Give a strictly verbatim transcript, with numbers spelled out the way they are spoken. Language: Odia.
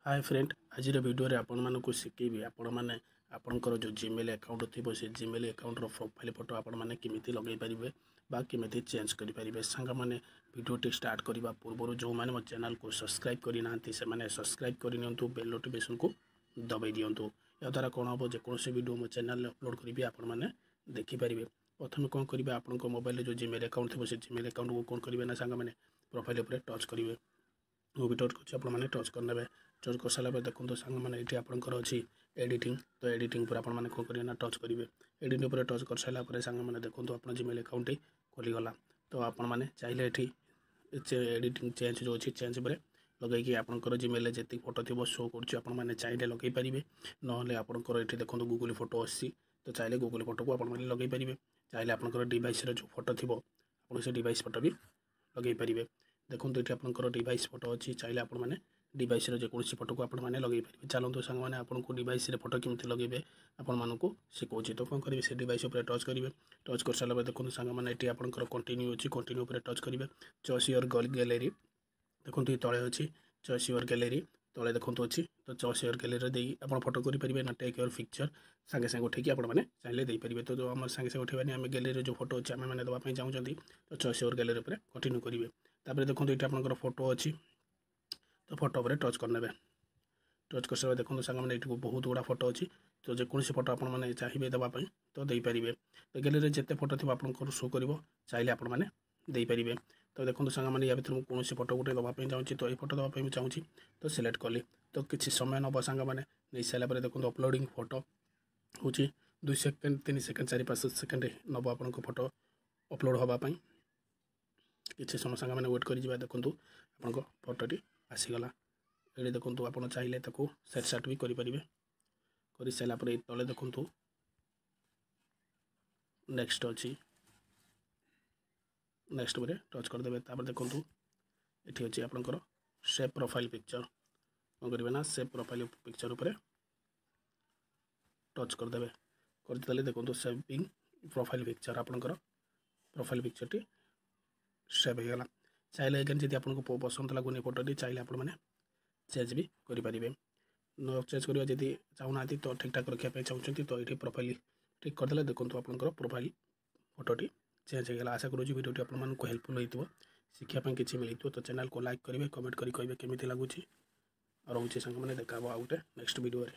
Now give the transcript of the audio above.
ହାଏ ଫ୍ରେଣ୍ଡ, ଆଜିର ଭିଡ଼ିଓରେ ଆପଣମାନଙ୍କୁ ଶିଖେଇବି ଆପଣମାନେ ଆପଣଙ୍କର ଯେଉଁ ଜିମେଲ୍ ଆକାଉଣ୍ଟ ଥିବ, ସେ ଜିମେଲ୍ ଆକାଉଣ୍ଟର ପ୍ରୋଫାଇଲ୍ ଫଟୋ ଆପଣମାନେ କେମିତି ଲଗାଇ ପାରିବେ ବା କେମିତି ଚେଞ୍ଜ କରିପାରିବେ। ସାଙ୍ଗମାନେ, ଭିଡ଼ିଓଟି ଷ୍ଟାର୍ଟ କରିବା ପୂର୍ବରୁ ଯେଉଁମାନେ ମୋ ଚ୍ୟାନେଲକୁ ସବସ୍କ୍ରାଇବ୍ କରିନାହାନ୍ତି, ସେମାନେ ସବସ୍କ୍ରାଇବ୍ କରିନିଅନ୍ତୁ, ବେଲ୍ ନୋଟିଫିକେସନ୍କୁ ଦବାଇ ଦିଅନ୍ତୁ। ଏହାଦ୍ୱାରା କ'ଣ ହେବ, ଯେକୌଣସି ଭିଡ଼ିଓ ମୋ ଚ୍ୟାନେଲରେ ଅପଲୋଡ଼ କରିବି, ଆପଣମାନେ ଦେଖିପାରିବେ। ପ୍ରଥମେ କ'ଣ କରିବେ? ଆପଣଙ୍କ ମୋବାଇଲରେ ଯେଉଁ ଜିମେଲ୍ ଆକାଉଣ୍ଟ ଥିବ, ସେ ଜିମେଲ୍ ଆକାଉଣ୍ଟକୁ କ'ଣ କରିବେ ନା ସାଙ୍ଗମାନେ, ପ୍ରୋଫାଇଲ୍ ଉପରେ ଟଚ୍ କରିବେ। ମୁଁ ବି ଟଚ୍ କରୁଛି, ଆପଣମାନେ ଟଚ୍ କରିନେବେ। ଟଚ୍ କରିସାରିଲା ପରେ ଦେଖନ୍ତୁ ସାଙ୍ଗମାନେ, ଏଇଠି ଆପଣଙ୍କର ଅଛି ଏଡ଼ିଟିଂ। ତ ଏଡ଼ିଟିଂ ଉପରେ ଆପଣମାନେ କ'ଣ କରିବେ ନା ଟଚ୍ କରିବେ। ଏଡ଼ିଟିଂ ଉପରେ ଟଚ୍ କରିସାରିଲା ପରେ ସାଙ୍ଗମାନେ ଦେଖନ୍ତୁ, ଆପଣ ଜିମେଲ୍ ଆକାଉଣ୍ଟଟି ଖୋଲିଗଲା। ତ ଆପଣମାନେ ଚାହିଁଲେ ଏଠି ଏଡ଼ିଟିଂ ଚେଞ୍ଜ ଯେଉଁ ଅଛି, ଚେଞ୍ଜ ଉପରେ ଲଗାଇକି ଆପଣଙ୍କର ଜିମେଲ୍ରେ ଯେତିକି ଫଟୋ ଥିବ ଶୋ କରୁଛି, ଆପଣମାନେ ଚାହିଁଲେ ଲଗାଇ ପାରିବେ। ନହେଲେ ଆପଣଙ୍କର ଏଠି ଦେଖନ୍ତୁ ଗୁଗୁଲ୍ ଫଟୋ ଆସିଛି, ତ ଚାହିଁଲେ ଗୁଗୁଲ୍ ଫଟୋକୁ ଆପଣମାନେ ଲଗାଇ ପାରିବେ। ଚାହିଁଲେ ଆପଣଙ୍କର ଡିଭାଇସ୍ର ଯେଉଁ ଫଟୋ ଥିବ, ଆପଣ ସେ ଡିଭାଇସ୍ ଫଟୋ ବି ଲଗାଇ ପାରିବେ। ଦେଖନ୍ତୁ, ଏଠି ଆପଣଙ୍କର ଡିଭାଇସ୍ ଫଟୋ ଅଛି, ଚାହିଁଲେ ଆପଣମାନେ ଡିଭାଇସ୍ର ଯେକୌଣସି ଫଟୋକୁ ଆପଣମାନେ ଲଗାଇ ପାରିବେ। ଚାଲନ୍ତୁ ସାଙ୍ଗମାନେ, ଆପଣଙ୍କୁ ଡିଭାଇସ୍ରେ ଫଟୋ କେମିତି ଲଗାଇବେ ଆପଣମାନଙ୍କୁ ଶିଖାଉଛି। ତ କ'ଣ କରିବେ? ସେ ଡିଭାଇସ୍ ଉପରେ ଟଚ୍ କରିବେ। ଟଚ୍ କରିସାରିଲା ପରେ ଦେଖନ୍ତୁ ସାଙ୍ଗମାନେ, ଏଠି ଆପଣଙ୍କର କଣ୍ଟିନ୍ୟୁ ଅଛି, କଣ୍ଟିନ୍ୟୁ ଉପରେ ଟଚ୍ କରିବେ। ଚଏସ୍ your gallery, ଦେଖନ୍ତୁ ଏ ତଳେ ଅଛି ଚଏସ୍ your gallery, ତଳେ ଦେଖନ୍ତୁ ଅଛି। ତ ଚଏସ୍ your ଗ୍ୟାଲେରୀରେ ଦେଇ ଆପଣ ଫଟୋ କରିପାରିବେ ନା ଟେକ୍ your picture, ସାଙ୍ଗେ ସାଙ୍ଗେ ଉଠେଇକି ଆପଣମାନେ ଚାହିଁଲେ ଦେଇପାରିବେ। ତ ଯେଉଁ ଆମର ସାଙ୍ଗେ ସାଙ୍ଗେ ଉଠେଇବାନି, ଆମେ ଗ୍ୟାଲେରୀରେ ଯେଉଁ ଫଟୋ ଅଛି ଆମେମାନେ ଦେବା ପାଇଁ ଚାହୁଁଛନ୍ତି, ତ ଚଏସ୍ your gallery ଉପରେ କଣ୍ଟିନ୍ୟୁ କରିବେ। ତାପରେ ଦେଖନ୍ତୁ, ଏଇଠି ଆପଣଙ୍କର ଫଟୋ ଅଛି, ତ ଫଟୋ ଉପରେ ଟଚ୍ କରିନେବେ। ଟଚ୍ କରିସାରିଲା ଦେଖନ୍ତୁ ସାଙ୍ଗମାନେ, ଏଇଠି ବହୁତ ଗୁଡ଼ା ଫଟୋ ଅଛି। ତ ଯେକୌଣସି ଫଟୋ ଆପଣମାନେ ଚାହିଁବେ ଦେବା ପାଇଁ ତ ଦେଇପାରିବେ। ତ ଗ୍ୟାଲେରୀରେ ଯେତେ ଫଟୋ ଥିବ ଆପଣଙ୍କର ଶୋ କରିବ, ଚାହିଁଲେ ଆପଣମାନେ ଦେଇପାରିବେ। ତ ଦେଖନ୍ତୁ ସାଙ୍ଗମାନେ, ୟା ଭିତରେ ମୁଁ କୌଣସି ଫଟୋ ଗୋଟେ ଦେବା ପାଇଁ ଚାହୁଁଛି। ତ ଏଇ ଫଟୋ ଦେବା ପାଇଁ ମୁଁ ଚାହୁଁଛି, ତ ସିଲେକ୍ଟ କଲି। ତ କିଛି ସମୟ ନେବ ସାଙ୍ଗମାନେ। ନେଇସାରିଲା ପରେ ଦେଖନ୍ତୁ, ଅପଲୋଡ଼ିଂ ଫଟୋ ହେଉଛି। ଦୁଇ ସେକେଣ୍ଡ, ତିନି ସେକେଣ୍ଡ, ଚାରି ପାଞ୍ଚ ସେକେଣ୍ଡ ନେବ ଆପଣଙ୍କ ଫଟୋ ଅପଲୋଡ଼ ହେବା ପାଇଁ। କିଛି ସମୟ ସାଙ୍ଗମାନେ ୱେଟ୍ କରିଯିବା। ଦେଖନ୍ତୁ, ଆପଣଙ୍କ ଫଟୋଟି ଆସିଗଲା। ଏଠି ଦେଖନ୍ତୁ, ଆପଣ ଚାହିଁଲେ ତାକୁ ସେଟ୍ ସାଟ୍ ବି କରିପାରିବେ। କରିସାରିଲା ପରେ ଏଇ ତଳେ ଦେଖନ୍ତୁ ନେକ୍ସଟ ଅଛି, ନେକ୍ସଟ ଉପରେ ଟଚ୍ କରିଦେବେ। ତାପରେ ଦେଖନ୍ତୁ, ଏଠି ଅଛି ଆପଣଙ୍କର ସେଭ୍ ପ୍ରୋଫାଇଲ୍ ପିକ୍ଚର। କ'ଣ କରିବେ ନା ସେଭ୍ ପ୍ରୋଫାଇଲ୍ ପିକ୍ଚର ଉପରେ ଟଚ୍ କରିଦେବେ। କରିଦେଲେ ଦେଖନ୍ତୁ, ସେଭିଂ ପ୍ରୋଫାଇଲ୍ ପିକ୍ଚର, ଆପଣଙ୍କର ପ୍ରୋଫାଇଲ୍ ପିକ୍ଚରଟି ସେଭ୍ ହେଇଗଲା। ଚାହିଁଲେ ଏଗେନ୍ ଯଦି ଆପଣଙ୍କୁ ପସନ୍ଦ ଲାଗୁନି ଫଟୋଟି, ଚାହିଁଲେ ଆପଣମାନେ ଚେଞ୍ଜ ବି କରିପାରିବେ। ନ ଚେଞ୍ଜ କରିବା ଯଦି ଚାହୁଁନାହାନ୍ତି, ତ ଠିକ୍ଠାକ୍ ରଖିବା ପାଇଁ ଚାହୁଁଛନ୍ତି, ତ ଏଇଠି ପ୍ରୋଫାଇଲ୍ ଠିକ୍ କରିଦେଲେ ଦେଖନ୍ତୁ, ଆପଣଙ୍କର ପ୍ରୋଫାଇଲ୍ ଫଟୋଟି ଚେଞ୍ଜ ହେଇଗଲା। ଆଶା କରୁଛି ଭିଡ଼ିଓଟି ଆପଣମାନଙ୍କୁ ହେଲ୍ପଫୁଲ୍ ହେଇଥିବ, ଶିଖିବା ପାଇଁ କିଛି ମିଳିଥିବ। ତ ଚ୍ୟାନେଲକୁ ଲାଇକ୍ କରିବେ, କମେଣ୍ଟ କରି କହିବେ କେମିତି ଲାଗୁଛି। ଆଉ ରହୁଛି ସାଙ୍ଗମାନେ, ଦେଖା ହେବ ଆଉ ଗୋଟେ ନେକ୍ସଟ ଭିଡ଼ିଓରେ।